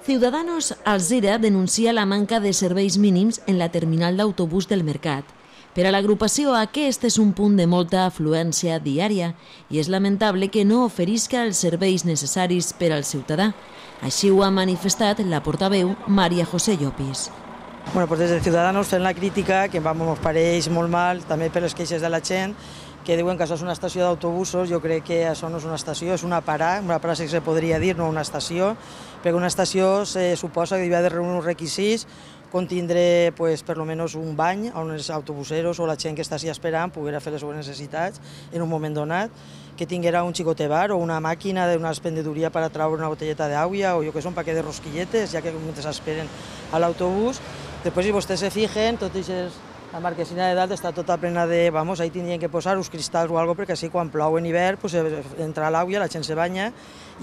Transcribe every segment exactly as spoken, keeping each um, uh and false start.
Ciudadanos Alzira denuncia la manca de serveis mínims en la terminal d'autobús del Mercat. Per a l'agrupació, aquest és un punt de molta afluència diària i és lamentable que no oferisca els serveis necessaris per al ciutadà. Així ho ha manifestat la portaveu Maria José Llopis. Bueno, pues des de Ciudadanos fem la crítica, que ens pareix molt mal, també per les queixes de la gent, que diuen que això és una estació d'autobusos. Jo crec que això no és una estació, és una parada, una parada que se podria dir, no una estació, perquè una estació se suposa que hauria de reunir uns requisits, contindre pues, per almenys un bany on els autobuseros o la gent que està així esperant poguera fer les seves necessitats en un moment donat, que tinguera un xicote bar o una màquina d'una expendedoria per a treure una botelleta d'aigua o jo que sé, un paquet de rosquilletes, ja que mentre esperen a l'autobús. Després, si vostès se fijen, tot això, la marquesina de dalt està tota plena de... Vamos, ahí tindrien que posar uns cristalls o alguna cosa, perquè així quan plou en hivern pues, entra l'aigua, la gent se banya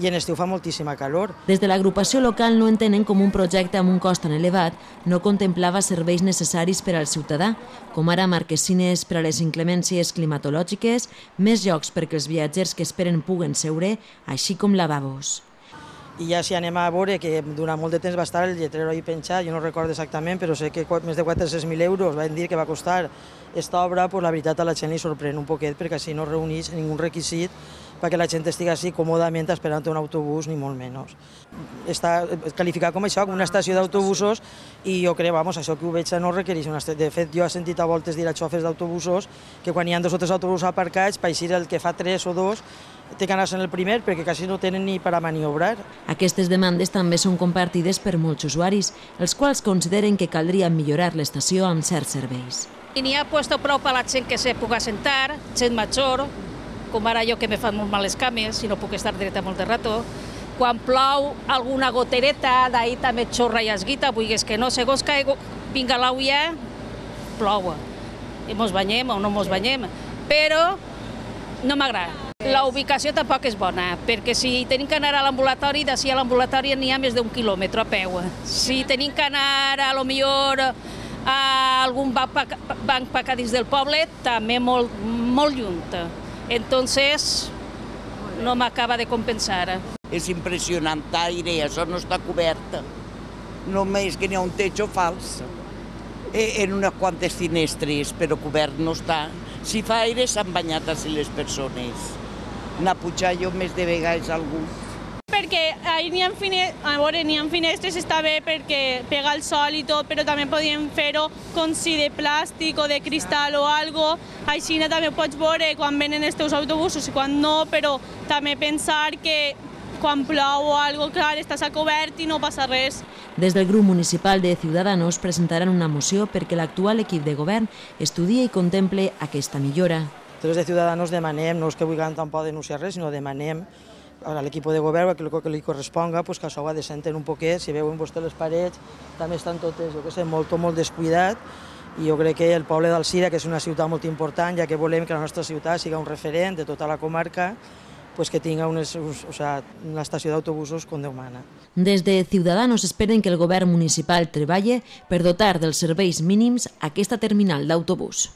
i en estiu fa moltíssima calor. Des de l'agrupació local no entenen com un projecte amb un cost tan elevat no contemplava serveis necessaris per al ciutadà, com ara marquesines per a les inclemències climatològiques, més llocs perquè els viatgers que esperen puguen seure, així com lavabos. I ja si anem a veure que durant molt de temps va estar el lletrero ahí penjat, jo no recordo exactament, però sé que més de quatre-cents mil euros van dir que va costar aquesta obra, pues la veritat a la gent li sorprèn un poquet perquè així no reuneix ningú requisit perquè la gent estigui així còmodament esperant un autobús, ni molt menys. Està qualificat com això, com una estació d'autobusos, i jo crec, vamos, això que ho veig no requereix una estació. De fet, jo he sentit a voltes dir a xofers d'autobusos que quan hi ha dos o tres autobusos aparcats, per així el que fa tres o dos té que anar-se en el primer perquè quasi no tenen ni per a maniobrar. Aquestes demandes també són compartides per molts usuaris, els quals consideren que caldria millorar l'estació amb certs serveis. I n'hi ha puesto prou per a la gent que se pugui assentar, gent major, com ara jo que me fan molt mal les cames i no puc estar dreta molt de rato. Quan plou alguna gotereta, d'ahir també xorra i esguita, vulguis que no, segons que vinga l'aigua, plou. I mos banyem o no mos banyem, però no m'agrada. La ubicació tampoc és bona, perquè si tenim que anar a l'ambulatori, d'ací a l'ambulatori n'hi ha més d'un quilòmetre a peu. Si tenim que anar, a lo millor, a algun banc per dins del poble, també molt, molt lluny. Entonces, no m'acaba de compensar. És impressionant, aire, això no està cobert. Només que n'hi ha un techo fals. En unes quantes finestres, però cobert no està. Si fa aire s'han banyat així les persones. N'ha pujat jo més de vegades algú. Perquè ahir n'hi ha, a veure, n'hi ha finestres, està bé perquè pega el sol i tot, però també podíem fer-ho com si de plàstic o de cristal o algo. Així també pots veure quan venen els teus autobusos i quan no, però també pensar que quan plou o algo, clar, estàs a cobert i no passa res. Des del grup municipal de Ciudadanos presentaran una moció perquè l'actual equip de govern estudia i contemple aquesta millora. Des de Ciudadanos demanem, no és que vulguem tampoc denunciar res, sinó demanem a l'equip de govern que el que li corresponga, que això ho ha de sentir un poquet. Si veuen vostès les parets, també estan totes, jo què sé, molt, molt descuidat, i jo crec que el poble d'Alzira, que és una ciutat molt important, ja que volem que la nostra ciutat sigui un referent de tota la comarca, pues que tinga una, o sea, una estació d'autobusos com Déu mana. Des de Ciudadanos esperen que el govern municipal treballe per dotar dels serveis mínims aquesta terminal d'autobús.